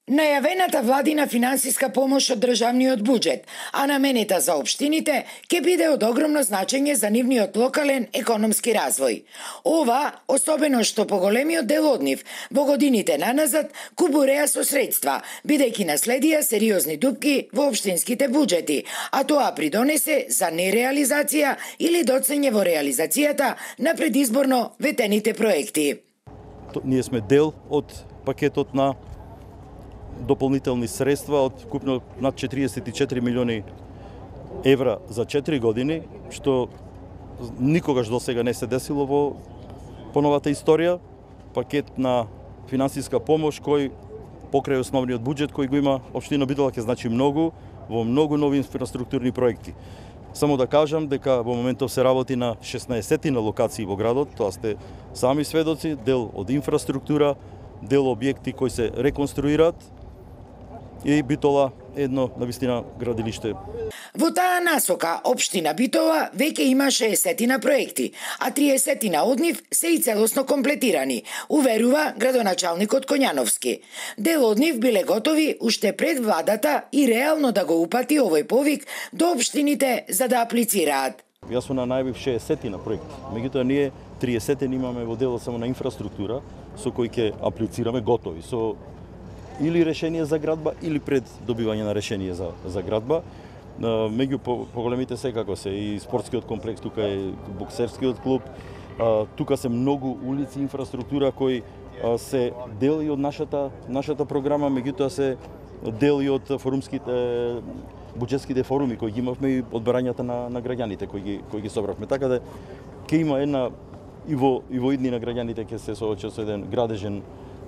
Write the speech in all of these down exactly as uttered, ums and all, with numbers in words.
Најавената владина финансиска помош од државниот буџет, а наменета за општините, ќе биде од огромно значење за нивниот локален економски развој. Ова, особено што поголемиот дел од нив во годините наназад кубуреа со средства, бидејќи наследија сериозни дупки во општинските буџети, а тоа придонесе за нереализација или доцење во реализацијата на предизборно ветените проекти. Ние сме дел од пакетот на дополнителни средства од купно над четириесет и четири милиони евра за четири години, што никогаш досега не се десило во поновата историја. Пакет на финансиска помош кој покрај основниот буџет кој го има општина Битола ќе значи многу во многу нови инфраструктурни проекти. Само да кажам дека во моментов се работи на шеснаесет на локации во градот, тоа сте сами сведоци, дел од инфраструктура, дел објекти кои се реконструираат, и Битола едно навистина градилиште. Во таа насока, општина Битола веќе има шеесет проекти, а триесет од нив се и целосно комплетирани, уверува градоначалникот Коњановски. Дел од нив биле готови уште пред владата и реално да го упати овој повик до општините за да аплицираат. Јас сум на најавив шеесет проекти, меѓутоа ние триесет имаме во делот само на инфраструктура со кои ќе аплицираме готови, со или решение за градба, или пред добивање на решение за, за градба. Меѓу поголемите секако се и спортскиот комплекс, тука е боксерскиот клуб, тука се многу улици, инфраструктура кои се дел и од нашата, нашата програма, меѓутоа се дел и од форумските, буџетските форуми кои ги имавме и одбарањата на, на граѓаните кои ги, кои ги собравме. Така да ќе има една и во, и во идни на граѓаните ќе се соочат со еден градежен,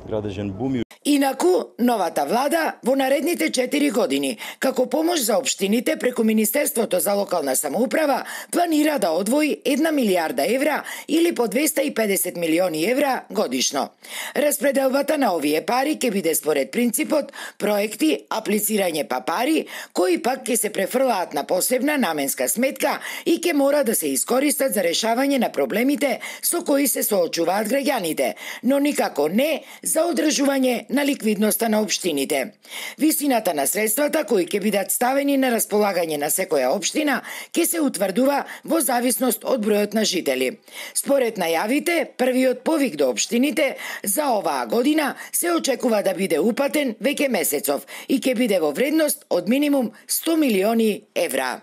градежен бум. Инаку, новата влада во наредните четири години, како помош за општините преку Министерството за локална самоуправа, планира да одвои една милијарда евра или по двесте и педесет милиони евра годишно. Распределбата на овие пари ќе биде според принципот проекти, аплицирање па пари, кои пак ќе се префрлаат на посебна наменска сметка и ќе мора да се искористат за решавање на проблемите со кои се соочуваат граѓаните, но никако не за одржување на ликвидноста на општините. Висината на средствата кои ќе бидат ставени на располагање на секоја општина ќе се утврдува во зависност од бројот на жители. Според најавите, првиот повик до општините за оваа година се очекува да биде упатен веќе месецов и ќе биде во вредност од минимум сто милиони евра.